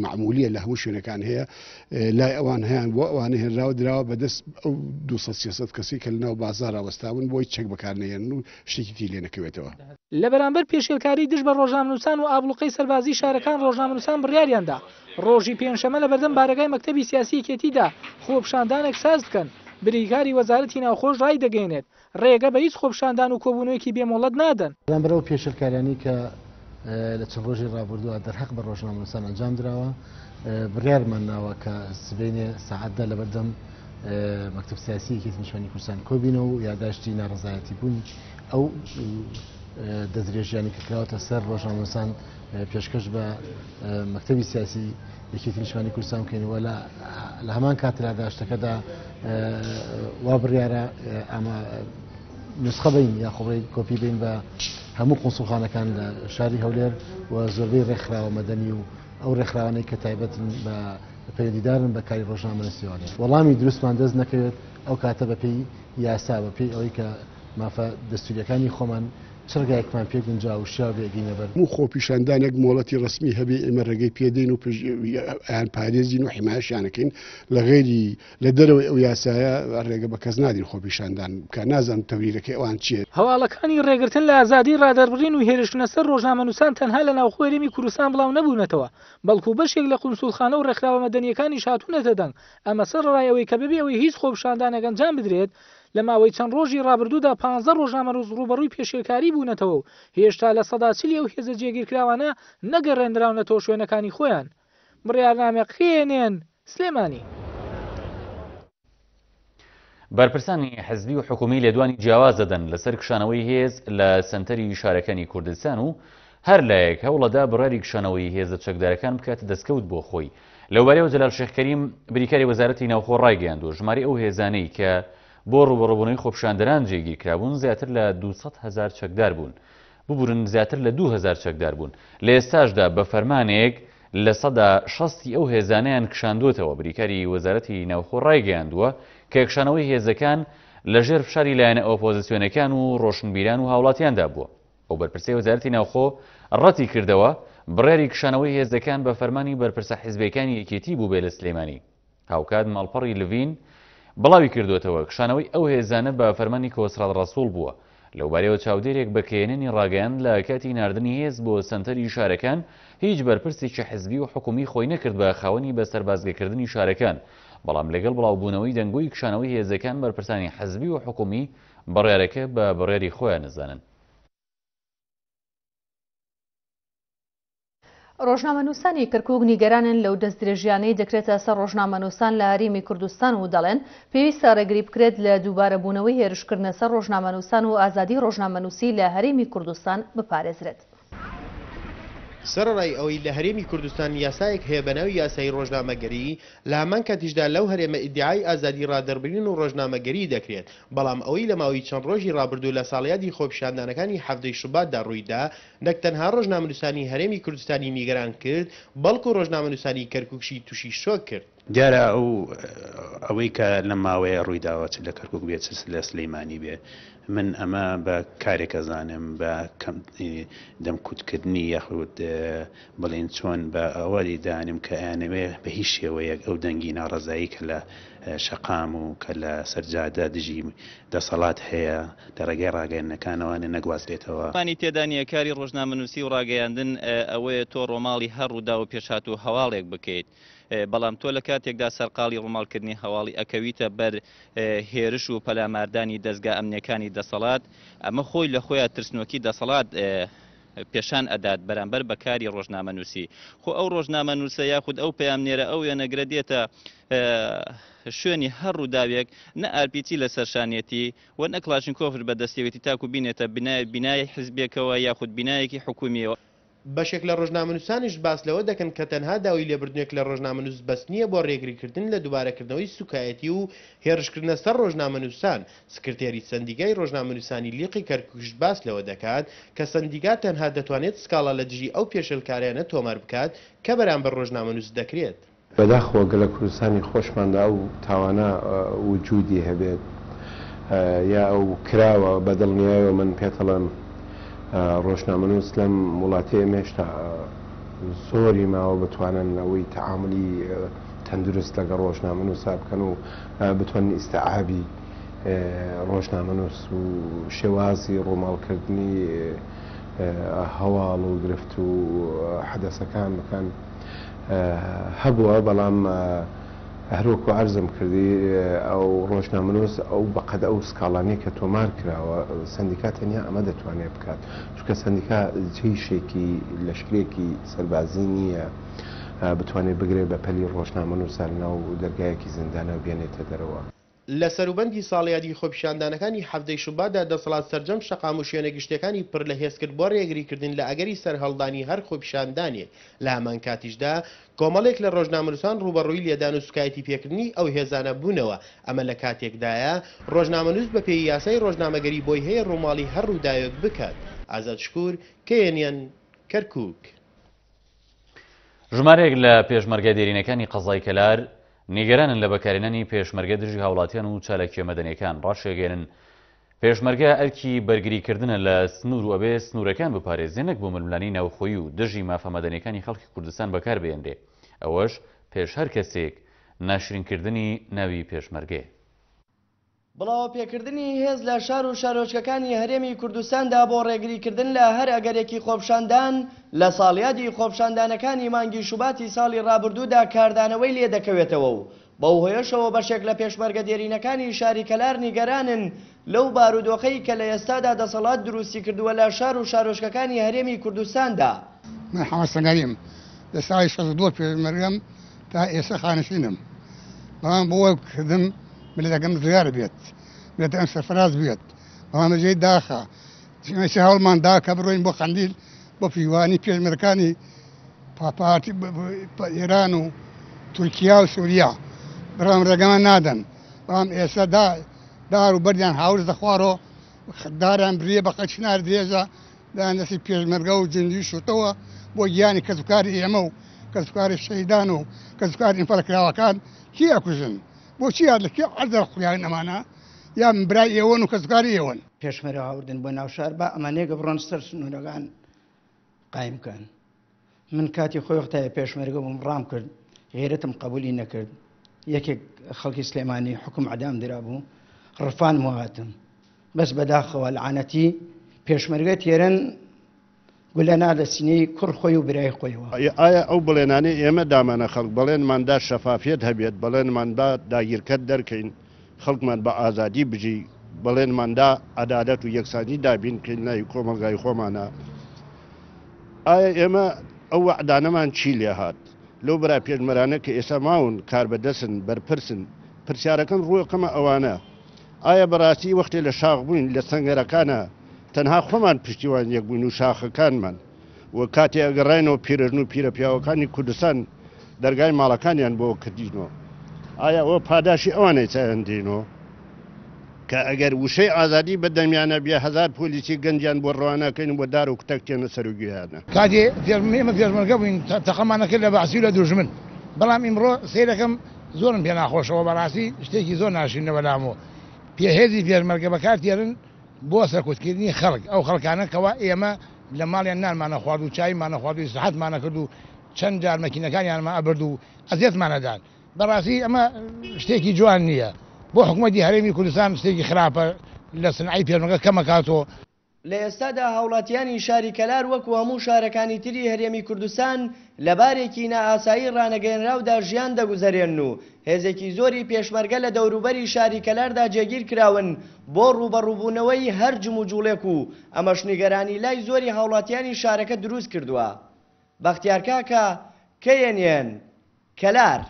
مەعمولیە لە هەموو شوێنەکان هەیە لای ئەوان هەیان بۆ ئەوانە هێنراوە دراوە بە دەست ئەو 200 300 کەسی کە لەناو بازاڕا وەستاون بۆی چەک بەکارنەهێنن و شتێکی تی لێ نەکەوێتەوە. لە بەرامبەر پێشێلکاری دژ بە ڕۆژنامەنووسان و ئابڵوقەی سەربازیی شارەکان ڕۆژنامەنووسان بڕیاریاندا ڕۆژی پێنجشەمە لە بەردەم بارەگای مەکتەبی سیاسی یەکێتیدا خۆپیشاندانێک ساز بکەن، بریکاری وەزارەتی ناوخۆش ڕایدەگەیەنێت، ڕێگە بە هیچ خۆپیشاندان و کۆبوونەوەیەکی بێ مۆڵەت نادەن. بەرامبەر ئەو پێشێلکاریانەی کە لە چەند ڕۆژی ڕابردووە دەرهەق بە ڕۆژنامەنووسان ئەنجام دراوە، بڕیارمان ناوە کە سبەینێ سەعات دە لەبەردەم مەکتەب سیاسی یەکێتی نیشتمانی کوردستان کۆبینەوە و یاداشتی ناڕەزایەتی بوونی ئەو دەستدرێژیانەی کە کراوەتە سەر ڕۆژنامەنووسان پێشکەش بە مەکتەبی سیاسی یەکێتی نیشتمانی کوردستان بکەین و لە هەمان کات لە داشتەکەدا وا بڕیارە ئەمە نسخە بین یا خۆڵی کۆپی بین بە هەموو قونسڵخانەکان لە شاری هەولێر و زۆربەی ڕێکخراوە مەدەنی و ئەو ڕێکخراوانەی کە تایبەتن بە پەیوەندیدارن بە کاری ڕۆژنامەنووسیەوە وەڵامی دروستمان دەست نەکەوێت ئەو کاتە بەپێی یاسا بەپێی ئەوەی کە مافە دەستوریەکانی خۆمان چ ڕێگایەکمان پێ گونجاو و شیاو بێ ئەگەینە بەر. هەموو خۆپیشاندانێک مۆڵەتی ڕەسمی هەبێ ئێمە ڕێگەی پێ دەین و ئەیانپارێزین و حیمایەشیان ئەکەین، لە غەیری لە دەرەوەی ئەو یاسایە ڕێگە بە کەس نادەین خۆپیشاندان بکا، نازانم تەبریرەکەی ئەوان چیە. هەواڵەکانی ڕێگرتن لە ئازادیی ڕادەربڕین و هێرشکردنە سەر ڕۆژنامەنووسان تەنها لە ناوخۆی هەرێمی کوردستان بڵاو نەبوونەتەوە، بەڵکو بەشێک لە قونسوڵخانە و ڕێکخراوە مەدەنییەکانیش هاتوونەتە دەنگ، ئەمە سەرەڕای ئەوەی کە بەبێ ئەوەی هیچ خۆپیشاندانێک ئەنجام بدرێت، لە ماوەی چەند ڕۆژی ڕابردوودا پانزە ڕۆژنامەنووس ڕووبەڕووی پێشێلکاری بوونەتەوە و هێشتا 40% ئەو هێزە جێگیرکراوانە نەگەڕێنراونەتەوە شوێنەکانی خۆیان. بڕیارنامە کێنێن، سلێمانی. بەرپرسانی حزبی و حکومی لێدوانی جیاواز دەدەن لەسەر کشانەوەی هێز لە سەنتەری شارەکانی کوردستان و هەر لایەک هەوڵەدا بڕیاری کشانەوەی هێزە چەکدارەکان بکاتە دەستکەوت بۆ خۆی. لەوبارەیەوە جەلال شێخ کەریم، بریکاری وەزارەتی ناوخۆ ڕایگەیاندووە، ژمارەی ئەو هێزانەی کە بۆ ڕووبەڕووبوونەوەی خۆپیشاندەران جێگیرکرابوون زیاتر لە 200 هەزار چەکدار بوون. ببورن زیاتر لە 2000 چەکدار بوون. لە ئێستاشدا بە فەرمانێک 60% ی ئەو هێزانەیان کشاندووەتەوە. بریکاری وەزارەتی ناوخۆ ڕایگەیاندووە کە کشانەوەی هێزەکان لەژێر فشاری لایەنە ئۆپۆزسیۆنەکان و ڕۆشنبیران و هاوڵاتیاندا بووە. ئەو بەرپرسەی وەزارەتی ناوخۆ ڕەتی کردەوە بڕیاری کشانەوەی هێزەکان بە فەرمانی بەرپرسە حیزبیەکانی یەکێتی بووبێ لە سلێمانی. هاوکات ماڵپەڕی لڤین بڵاوی کردووەتەوە کشانەوەی ئەو هێزانە بە فەرمانی کۆسرەت ڕەسوڵ بووە. لەوبارەیەوە چاودێرێک بە کەیەنێنی ڕاگەیاند لە کاتی ناردنی هێز بۆ سەنتەری شارەکان هیچ بەرپرسێکی حزبی و حکومی خۆی نەکرد بە خاوەنی بە سەربازگەکردنی شارەکان، بەڵام لەگەڵ بڵاوبوونەوەی دەنگۆی کشانەوەی هێزەکان بەرپرسانی حزبی و حکومی بڕیارەکە بە بڕیاری خۆیان ئەزانن. ڕۆژنامەنووسانی کەرکوک نیگەرانن لەو دەستدرێژیانەی دەکرێتە سەر ڕۆژنامەنووسان لە هەرێمی کوردستان و دەڵێن پێویستە ڕێگری بکرێت لە دووبارەبوونەوەی هێرشکردنە سەر ڕۆژنامەنووسان و ئازادی ڕۆژنامەنووسی لە هەرێمی کوردستان بپارێزرێت. سەرەڕای ئەوەی لە هەرێمی کوردستان یاسایەک هەیە بەناوی یاسای ڕۆژنامەگەری، لە هەمان کاتیشدا لەو هەرێمە ئیدیعای ئازادی ڕادەربرین و ڕۆژنامەگەری دەکرێت، بەڵام ئەوەی لە ماوەی چەند ڕۆژی ڕابردوو لە ساڵیادی خۆپیشاندانەکانی حەڤدەی شوباتدا ڕوویدا، نەک تەنها ڕۆژنامەنووسانی هەرێمی کوردستانی نیگەران کرد، بەڵکو ڕۆژنامەنووسانی کەرکوکشی تووشی شۆک کرد. دیارە ئەو ئەوەی کە لەم ماوەیە ڕوویداوە چ لە کەرکوک بێت چ لە سلیمانی بێ من ئەمە بە کارێک ئەزانم بە کەم دەمکوتکردنی یاخود بڵێن چۆن بە ئەوە دانم کە ئەیانەوێ بە هیچ شێوەیەک ئەو دەنگی ناڕەزایی کە لە شەقام و کە لە سەرجادە دژی دەسەڵات هەیە لە ڕێگای ڕاگەیاندنەکانەوە نەگوازرێتەوە. گومانی تێدا نییە کاری ڕۆژنامەنووسی و ڕاگەیاندن ئەوەیە تۆ ڕۆماڵی هەر ڕووداو و پێشهات و هەواڵێک بکەیت، بەڵام تۆ لە کاتێکدا سەرقاڵی ڕووماڵکردنی هەواڵی ئەکەویتە بەر هێرش و پەلاماردانی دەزگا ئەمنیەکانی دەسەڵات، ئەمە خۆی لە خۆیا ترسنۆکی دەسەڵات پێشان ئەدات بەرامبەر بە کاری ڕۆژنامەنووسی. خۆ ئەو ڕۆژنامەنووسە یاخود ئەو پەیامنێرە ئەو وێنەگرە دێتە شوێنی هەر ڕووداوێک نە ئارپیچی لەسەر شانیەتی و نە کڵاشینکۆفش بەدەستیەوەتی تاکو بینێتە بینای حزبێکەوە یاخود بینایەکی حکومیەوە. بەشێک لە ڕۆژنامەنووسانیش باس لەوە دەکەن کە تەنها داوای لێبردنێک لە ڕۆژنامەنووس بەس نییە بۆ ڕێگریکردن لە دووبارەکردنەوەی سوکایەتی و هێرشکردنە سەر ڕۆژنامەنووسان، سکرتێری سەندیگای ڕۆژنامەنووسانی لیقی کەرکوکیش باس لەوە دەکات کە سەندیگا تەنها دەتوانێت سکاڵا لە دژی ئەو پێشێلکاریانە تۆمار بکات کە بەرامبەر ڕۆژنامەنووس دەکرێت. بەداخەوە گەر لە کوردستانی خۆشماندا ئەو تاوانە وجودی هەبێت یا ئەو کراوە بە دڵنیایەوە من پێتەڵێم ڕۆژنامەنووس لەم وڵاتەی ئێمە هێشتا. زۆری ماوە بتوانن ئەوەی تەعامولی تەندروست لەگەڵ ڕۆژنامەنووسا بکەن و بتوانن ئیستعابی ڕۆژنامەنووس و شێوازی ڕووماڵکردنی هەواڵ و گرفت و حەدەسەکان بکەن هەبووە، بەڵام هەروەکو عەرزم کردی ئەو ڕۆژنامەنووس ئەو بەقەد ئەو سکاڵانەی کە تۆمار کراوە سەندیکا تەنیا ئەمە دەتوانێت بکات چونکە سەندیکا جەیشێکی لەشکرێکی سەربازی نییە بتوانێت بگرێت بە پەلی ڕۆژنامەنووسە لەناو دەرگایەکی زیندانە و بێنێتە دەرەوە. لە سەروبەندی ساڵیادی خۆپیشاندانەکانی حەڤدەی شوباتدا دەسەڵات سەرجەم شەقام و شوێنە گشتیەکانی پر لە هێز کرد بۆ رێگریکردن لە ئەگەری سەرهەڵدانی هەر خۆپیشاندانێک، لە هەمانکاتیشدا کۆمەڵێک لە رۆژنامەنوسان رووبەڕووی لێدان و سوکایەتی پێکردنی ئەو هێزانە بوونەوە، ئەمە لە کاتێکدایە رۆژنامەنوس بەپێی یاسای رۆژنامەگەری بۆی هەیە رووماڵی هەر رووداوێک بکات. ئازاد شکور، KNN، کەرکوک. ژمارەیەک لە پێشمەرگە دێرینەکانی قەزای کەلار نیگەرانن لە بەکارهێنانی پێشمەرگە دژی هاوڵاتیان و چالاکییە مەدەنیەکان، ڕاشیگەیەنن پێشمەرگە ئەرکی بەرگریکردنە لە سنوور و ئەبێ سنوورەکان بپارێزێ نەک بۆ ململانێی ناوخۆیی و دژی مافە مەدەنیەکانی خەڵکی کوردستان بەکاربهێنرێ، ئەوەش پێش هەر کەسێک ناشرینکردنی ناوی پێشمەرگەیە. بڵاوەپێکردنی هێز لە شار و شارۆچکەکانی هەرێمی کوردستاندا بۆ ڕێگریکردن لە هەر ئەگەرێکی خۆپشاندان لە ساڵیادی خۆپشاندانەکانی مانگی شوباتی ساڵی ڕابردوودا کاردانەوەی لێدەکەوێتەوە و بەو هۆیەشەوە بەشێک لە پێشمەرگە دێرینەکانی شاری کەلار نیگەرانن لەو بارودۆخەی کە لە ئێستادا دەسەڵات دروستیکردووە لە شار و شارۆچکەکانی هەرێمی کوردستاندا. من حەمە سەنگەریم، لە ساڵی 62 پێشمەرگەم تا ئێستا خانەشینم، بەڵام بۆ کردم میللەتەکەم ڕزگار بێت، میللەتەکەم سەرفراز بێت، بەڵام لە جێی داخە ئێستا هەوڵمان دا کە بڕۆین بۆ قەندیل بۆ پشتیوانی پێشمەرگەکانی پارتی ئێران و تورکیا و سوریا، بەڵام ڕێگەمان نادەن، بەڵام ئێستا دار و بەردیان هاورد دەخوارەوە، داریان بریە بە قەد چنار درێژە دایان دەستی پێشمەرگە و جندی شوتەوە بۆ گیانی کەسوکاری ئێمە و کەسوکاری شەهیدان و کەسوکاری ئینفالکراوەکان کێ ئەکوژن؟ بۆچی یاد لە کێ عەرزە خویان ئەمانە یا برای ئێوەن و کەسوکاری ئێوەن. پێشمەرگە هاوردن بۆ ناو شار با ئەمانەیەکە بڕۆن سەر سنوورەکان قایم کەن من کاتی خۆی وەختایە پێشمەرگە بووم ڕام کرد غیرەتم قبولی نەکرد یەکێک خەڵکی سلێمانی حکوم عدام درابوو ڕفانم و هاتم بەس بەداخەوە لەعانەتی پێشمەرگە تێرن گولە نادە سینەی کوڕ خۆی و برای خۆیەوە. ئایا ئەو بەڵێنانەی ئێمە دامانە خەڵک، بەڵێنمان دا شەفافیەت هەبێت، بەڵێنمان دا داگیرکەر دەرکەین، خەڵکمان بە ئازادی بژی، بەڵێنمان دا عەدالەت و یەکسانی دابین بکەین لای کۆمەڵگای خۆمانا، ئایا ئێمە ئەو وەعدانەمان چی لێهات؟ لەو برا پێشمەرانە کە ئێستا ماون، کاربەدەستن، بەرپرسن، پرسیارەکەم ڕووەکەمە ئەوانە، ئایا بەڕاستی وەختێ لە شاخ بووین لە سەنگەرەکانا تەنها خۆمان پشتیوان یەک بووین و شاخەکانمان و کاتێ ئەگەڕاینەوە پیرەژن و پیرەپیاوەکانی کوردستان دەرگای ماڵەکانیان بۆ کردینەوە ئایا ئەوە پاداشی ئەوانەی چایان دێنەوە کە ئەگەر وشەی ئازادی بە دەمیانە بێ هەزار پۆلیسی گەنجیان بۆ ڕەوانەکەین بۆ دار و کوتەک تێنە سەر و گوێیانە. کاتێ ئێمە پێشمەرگە بووین تەقەمان ئەکرد لە بەعسی و لە دوژمن بەڵام ئیمڕۆ سەیرەکەم زۆرم پێ ناخۆشەوە بەڕاستی شتێکی زۆر ناشرینە بەلامەوە پێ هێزی پێشمەرگە بەکار تێرن بۆ سەرکوتکردنی خەڵک ئەو خەڵکانە کەوا ئێمە لە ماڵیان نانمانە خوارد و چایمانە خوارد و ئیسراحەتمانە کرد و چەند جار مەکینەکانیانمان ئەبرد و ئەزیەتمانە دان بەڕاستی ئەمە شتێکی جوان نییە بۆ حکومەتی هەرێمی کوردستان شتێکی خراپە لە سنعی پێشمەرگە کەمەکاتۆ. لە ئێستادا هاوڵاتیانی شاری کەلار وەکو هەموو شارەکانی تری هەرێمی کوردستان لە بارێکی نائاسایی ڕانەگەیەنراودا ژیان دەگوزەرێنن و هێزێکی زۆری پێشمەرگە لە دەوروبەری شاری کەلاردا جێگیر کراون بۆ ڕووبەڕووبوونەوەی هەر جموجوڵێک و ئەمەش نیگەرانی لای زۆری هاوڵاتیانی شارەکە دروست کردووە. بەختیار کاکە، KNN، کەلار.